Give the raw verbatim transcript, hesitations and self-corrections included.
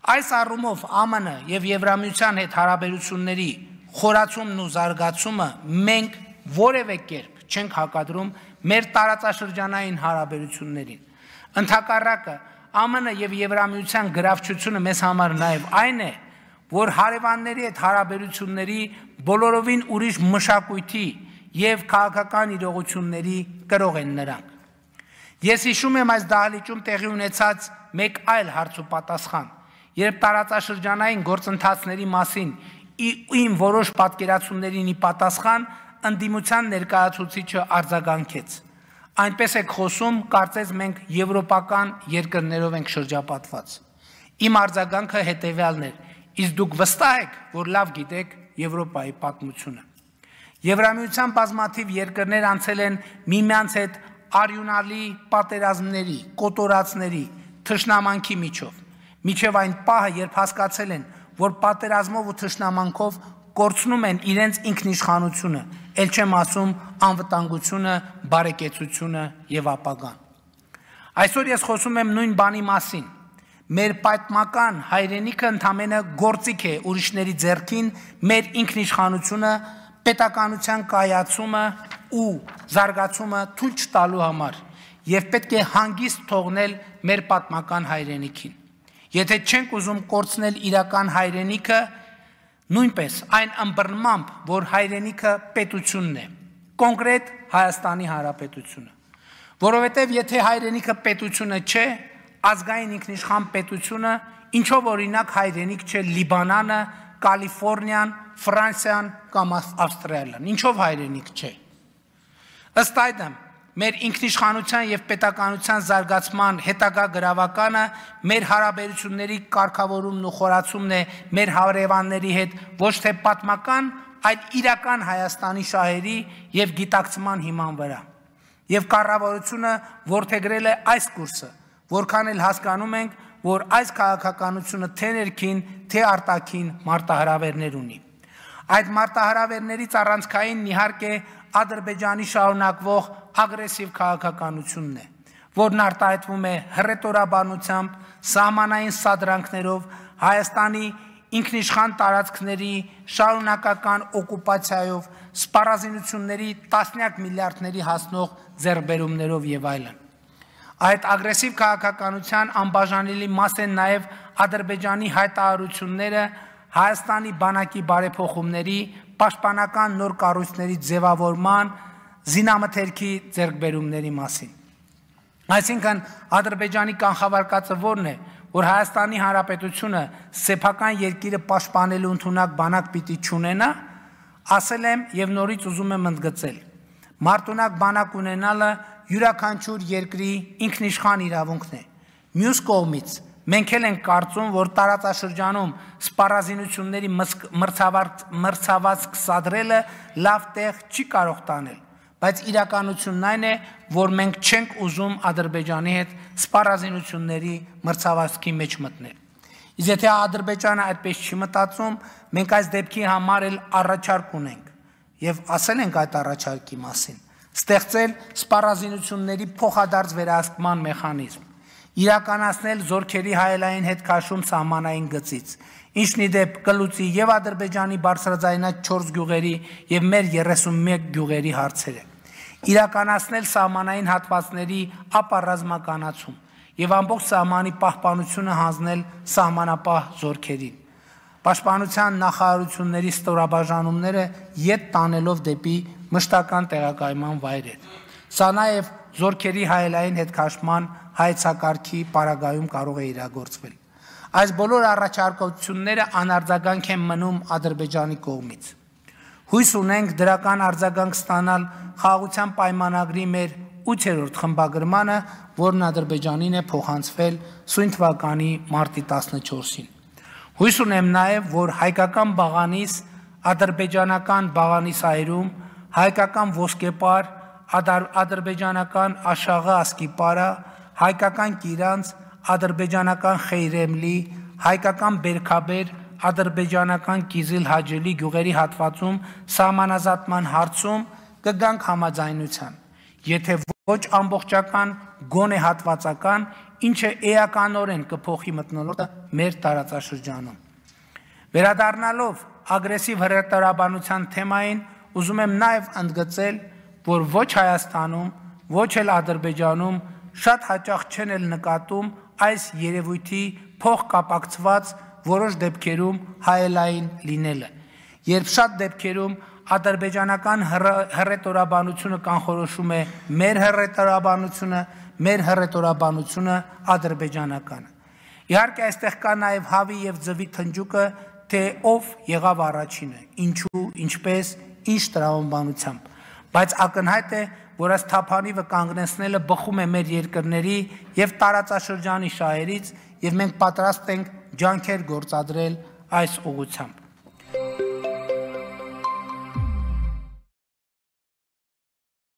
Այս առումով ԱՄՆ եւ Եվրամիության հետ հարաբերությունների խորացումն ու զարգացումը մենք որևէ կերպ չենք հակադրում մեր տարածաշրջանային հարաբերություններին։ Ընդհակառակը ԱՄՆ եւ Եվրամիության գրավչությունը մեզ համար նաեւ այն է, որ հարևանների հետ հարաբերությունների բոլորովին ուրիշ մշակույթի եւ քաղաքական իրողությունների կրող են նրանք։ Ես հիշում եմ այս դահլիճում տեղի ունեցած մեկ այլ հարց ու պատասխան, երբ տարածաշրջանային գործընթացների մասին իմ որոշ պատկերացումներին ի պատասխան ընդդիմության ներկայացուցիչը արձագանքեց։ Այնպես եք խոսում, կարծես մենք եվրոպական երկրներով ենք շրջապատված։ Իմ արձագանքը հետևյալն էր. իսկ դուք վստահ եք, որ լավ գիտեք Եվրոպայի պատմությունը։ Եվրամիության բազմաթիվ երկրներ անցել են միմյանց հետ արյունալի պատերազմների, կոտորածների, թշնամանքի միջով, միջև այն պահը, երբ հասկացել են, որ պատերազմով ու թշնամանքով կորցնում են իրենց ինքնիշխանությունը, ել չեմ ասում անվտանգությունը, բարեկեցությունը եւ ապագան։ Այսօր ես խոսում եմ նույն բանի մասին։ Մեր պատմական հայրենիքը ընդամենը գործիք է ուրիշների ձեռքին մեր ինքնիշխանությունը, պետականության կայացումը ու զարգացումը թույլ չտալու համար եւ պետք է հանգիստ թողնել մեր պատմական հայրենիքին։ Եթե չենք ուզում կորցնել իրական հայրենիքը, նույնպես այն ըմբռնմամբ, որ հայրենիքը պետությունն է, կոնկրետ Հայաստանի Հանրապետությունը, որովհետեւ եթե հայրենիքը պետությունը չէ, ազգային ինքնիշխան պետությունը, ինչով օրինակ հայրենիք չէ Լիբանանը, Կալիֆոռնիան, Ֆրանսիան կամ Ավստրալիան, ինչով հայրենիք չէ։ Ըստ այդմ, մեր ինքնիշխանության եւ պետականության զարգացման հետագա գրավականը մեր հարաբերությունների կարգավորումն ու խորացումն է մեր հարևանների հետ ոչ թե պատմական, այլ իրական Հայաստանի շահերի եւ գիտակցման հիման վրա։ Եվ կառավարությունը որդեգրել է այս կուրսը, որքան էլ հասկանում ենք, որ այս քաղաքականությունը թե ներքին, թե արտաքին մարտահրավերներ ունի։ Այդ մարտահրավերներից առանցքային իհարկե Ադրբեջանի շարունակվող ագրեսիվ քաղաքականությունն է, որն արտահայտվում է հռետորաբանությամբ, սահմանային սադրանքներով, Հայաստանի ինքնիշխան տարածքների շարունակական օկուպացիայով, սպառազինությունների տասնյակ միլիարդների հասնող ձեռքբերումներով եւ այլն։ Այդ ագրեսիվ քաղաքականության անբաժանելի մաս են նաև Ադրբեջանի հայտարարությունները Հայաստանի բանակի բարեփոխումների, պաշտպանական նոր կառույցների ձևավորման, զինամթերքի ձեռքբերումների մասին։ Այսինքն Ադրբեջանի կանխավարկածը որն է, որ Հայաստանի Հանրապետությունը սեփական երկիրը պաշտպանելու ընդունակ բանակ պիտի չունենա, ասել եմ եւ նորից ուզում եմ ընդգծել։ Մարտունակ բանակ ունենալը յուրաքանչյուր երկրի ինքնիշխան իրավունքն է։ Մյուս կողմից մենք էլ ենք կարծում, որ տարածաշրջանում սպառազինությունների մրցավազք սադրելը լավ տեղ չի կարող տանել, բայց իրականությունն այն է, որ մենք չենք ուզում Ադրբեջանի հետ սպառազինությունների մրցավազքի մեջ մտնել։ Իսկ եթե Ադրբեջանը այդպես չի մտածում, մենք այս դեպքի համար էլ առաջարկ ունենք եւ ասել ենք այդ առաջարկի մասին։ Ստեղծել սպառազինությունների փոխադարձ վերահսկման մեխանիզմ, իրականացնել զորքերի հայելային հետ քաշում սահմանային գծից, ինչն ի դեպ կլուծի եւ Ադրբեջանի բարձրաձայնած չորս գյուղերի եւ մեր երեսունմեկ գյուղերի հարցերը, իրականացնել սահմանային հատվածների ապառազմականացում եւ ամբողջ սահմանի պահպանությունը հանձնել սահմանապահ զորքերին, պաշտպանության նախարարությունների ստորաբաժանումները ետ տանելով դեպի մշտական տեղակայման վայրեր։ Սա նաև զորքերի հայելային հետքաշման հայեցակարգի պարագայում կարող է իրագործվել։ Այս բոլոր առաջարկությունները անարձագանք են մնում Ադրբեջանի կողմից։ Հույս ունենք դրական արձագանք ստանալ խաղաղության պայմանագրի մեր ութերորդ խմբագրմանը, որն Ադրբեջանին է փոխանցվել սույն թվականի մարտի տասնչորսին։ Հույս ունեմ նաև, որ հայկական բաղանիս, ադրբեջանական բաղանիսայրում, հայկական ոսկեպար, ադրբեջանական աշաղը ասկիպարը, հայկական կիրանց, ադրբեջանական խեյրեմլի, հայկական բերքաբեր, ադրբեջանական կիզիլ հաջելի գյուղերի հատվածում սահմանազատման հարցում կգանք համաձայնության, եթե ոչ ամբողջական, գոնե հատվածական, ինչը էականորեն կփոխի մթնոլորտը մեր տարածաշրջանում։ Վերադառնալով ագրեսիվ հրետորաբանության թեմային, ուզում եմ նաև ընդգծել, որ ոչ Հայաստանում, ոչ էլ Ադրբեջանում շատ հաճախ չեն էլ նկատում այս երևույթի փոխկապակցված որոշ դեպքերում հայելային լինելը, երբ շատ դեպքերում ադրբեջանական հռետորաբանությունը կանխորոշում է մեր հռետորաբանությունը, մեր հռետորաբանությունը ադրբեջանականը։ Իհարկե այստեղ կա նաև հավի եւ ձվի թնջուկը, թե ով եղավ առաջինը, ինչու, ինչպես, ինչ տրամաբանությամբ, բայց ակնհայտ է, որ այս թափանիվը կանգնեցնելը բխում է մեր երկրների եւ տարածաշրջանի շահերից եւ մենք պատրաստ ենք ջանքեր գործադրել այս ուղղությամբ։